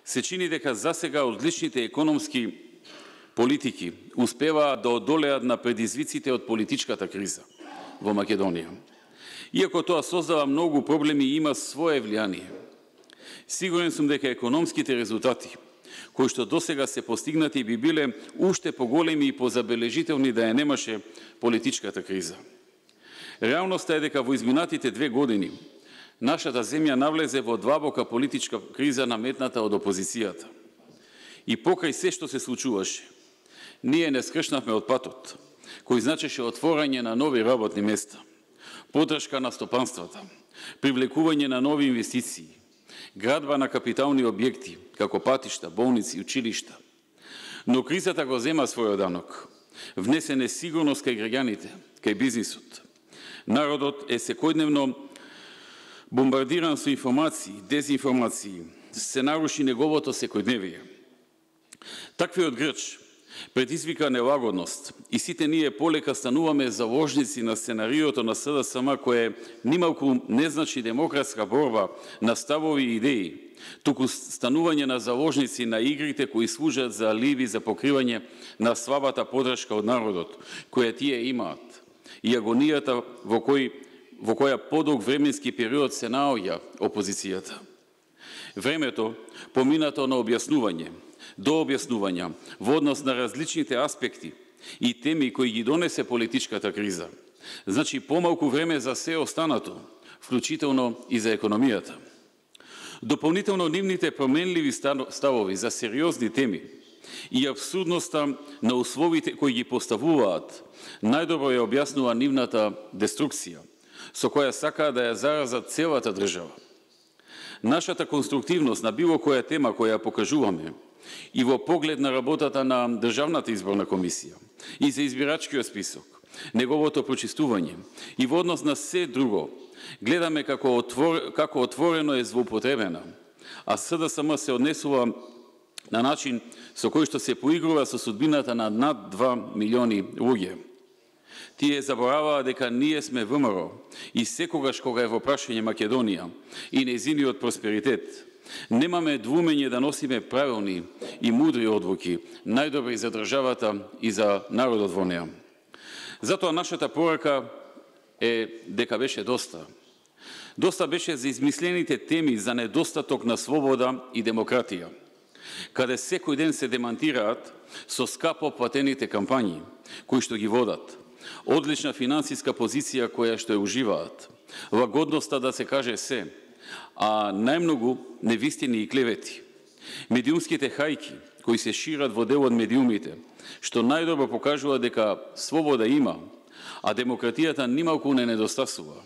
Се чини дека засега одличните економски политики успеваат да одолеат на предизвиците од политичката криза во Македонија. Иако тоа создава многу проблеми и има свое влијание. Сигурен сум дека економските резултати кои што досега се постигнати би биле уште поголеми и позабележителни да ја немаше политичката криза. Реалноста е дека во изминатите 2 години нашата земја навлезе во длабока политичка криза наметната од опозицијата. И покрај се што се случуваше, ние не скршнавме од патот, кој значеше отворање на нови работни места, поддршка на стопанствата, привлекување на нови инвестиции, градба на капитални објекти, како патишта, болници, училишта. Но кризата го зема својот данок. Внесе несигурност кај граѓаните, кај бизнисот. Народот е секојдневно бомбардиран со информации, дезинформации, се наруши неговото секојдневие. Таквиот грч предизвика нелагодност и сите ние полека стануваме заложници на сценариото на СДСМ кое нималку не значи демократска борба на ставови и идеи, туку станување на заложници на игрите кои служат за аливи за покривање на слабата поддршка од народот, која тие имаат, и агонијата во која подолг временски период се наоѓа опозицијата. Времето поминато на објаснување, до објаснувања во однос на различните аспекти и теми кои ги донесе политичката криза. Значи помалку време за се останато, вклучително и за економијата. Дополнително нивните променливи ставови за сериозни теми и абсурдноста на условите кои ги поставуваат, најдобро ја објаснува нивната деструкција, со која сакаа да ја заразат целата држава. Нашата конструктивност на било која тема која покажуваме и во поглед на работата на Државната изборна комисија и за избирачкиот список, неговото прочистување и во однос на се друго, гледаме како отворено е злоупотребена, а СДСМ се однесува на начин со кој што се поигрува со судбината на над 2 милиони луѓе. Тие забораваа дека ние сме ВМРО и секогаш кога е во прашање Македонија и нејзиниот просперитет, немаме двумење да носиме правилни и мудри одлуки, најдобри за државата и за народот во неа. Затоа нашата порака е дека беше доста. Доста беше за измислените теми за недостаток на слобода и демократија, каде секој ден се демантираат со скапо платените кампањи, кои што ги водат, одлична финансиска позиција која што ја уживаат, лагодноста да се каже се, а најмногу невистини и клевети. Медиумските хајки, кои се шират во дел од медиумите, што најдобро покажува дека слобода има, а демократијата нималку не недостасува.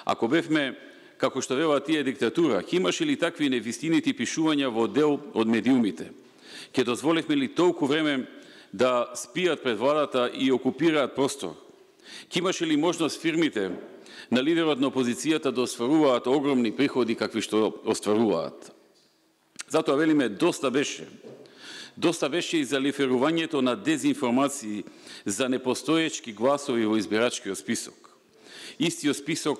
Ако бевме, како што велат тие диктатура, ќе имаше ли такви невистинити пишувања во дел од медиумите? Ќе дозволивме ли толку време да спијат пред владата и окупираат простор? Ќе имаше ли можност фирмите на лидерот на опозицијата да остваруваат огромни приходи какви што остваруваат? Затоа велиме доста беше. Доста беше и за лиферувањето на дезинформации за непостоечки гласови во избирачкиот список. Истиот список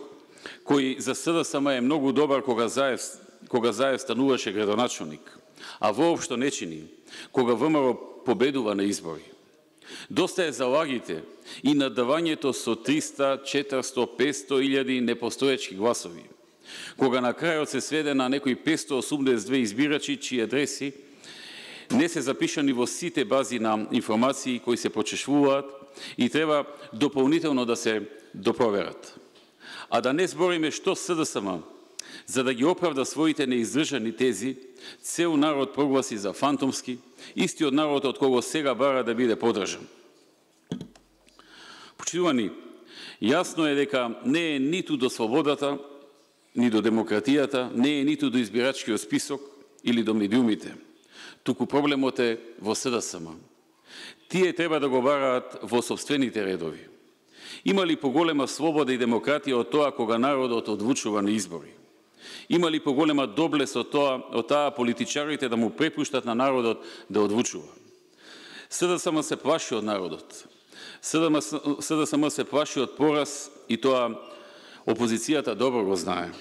кој за СДСМ е многу добар кога Заев стануваше градоначалник, а воопшто не чини кога ВМРО победува на избори. Доста е за лагите и надавањето со 300, 400, 500 илјади непостоечки гласови, кога на крајот се сведе на некои 582 избирачи чии адреси не се запишани во сите бази на информации кои се почешвуваат и треба дополнително да се допроверат. А да не збориме што СДСМ, за да ги оправда своите неиздржани тези, цел народ прогласи за фантомски, истиот народ од кого сега бара да биде поддржан. Почитувани, јасно е дека не е ниту до слободата, ни до демократијата, не е ниту до избирачкиот список или до медиумите. Туку проблемот е во СДСМ. Тие треба да го бараат во сопствените редови. Има ли поголема слобода и демократија од тоа кога народот одлучува на избори? Има ли поголема доблест од таа политичарите да му препуштат на народот да одлучува? СДСМ се плаши од народот. СДСМ се плаши од пораз и тоа опозицијата добро го знае.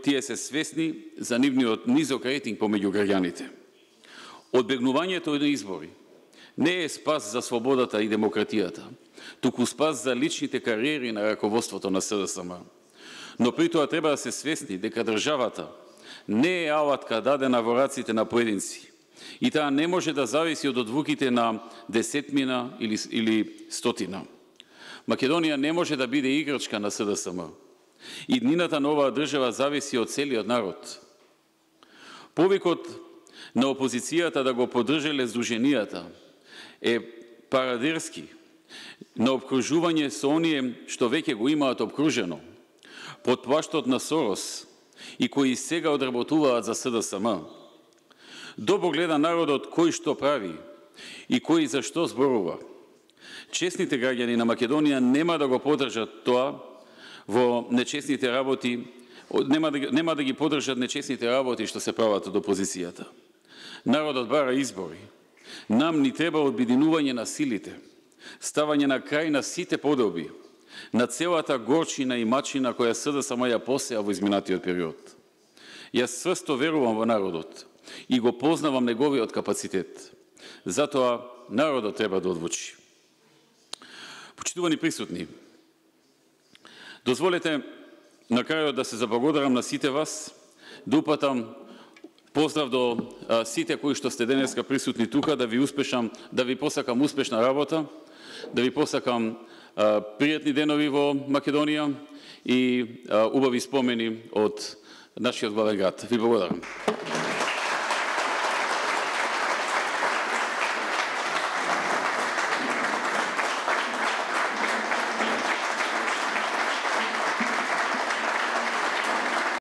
Тие се свесни за нивниот низок рейтинг помеѓу граѓаните. Одбегнувањето од избори не е спас за слободата и демократијата, туку спас за личните кариери на раководството на СДСМ. Но при тоа треба да се свесни дека државата не е алатка дадена во раците на поединци и таа не може да зависи од одлуките на десетмина или стотина. Македонија не може да биде играчка на СДСМ. Иднината на оваа држава зависи од целиот народ. Повикот на опозицијата да го поддржале здруженијата е парадерски на обкружување со оние што веќе го имаат обкружено, под плаштот на Сорос и кои сега одработуваат за СДСМ. Добро гледа народот кој што прави и кој за што зборува. Честните граѓани на Македонија нема да го поддржат тоа во нечестните работи, нема да ги поддржат нечестните работи што се прават од опозицијата. Народот бара избори. Нам ни треба обединување на силите, ставање на крај на сите подоби, на целата горчина и мачина која СДСМ ја посеа во изминатиот период. Јас сврсто верувам во народот и го познавам неговиот капацитет. Затоа народот треба да одлучи. Почитувани присутни, дозволете на крајот да се заблагодарам на сите вас, да упатам поздрав до сите кои што сте денеска присутни тука, да ви посакам успешна работа, да ви посакам пријатни денови во Македонија и убави спомени од нашиот главен град. Ви благодарам.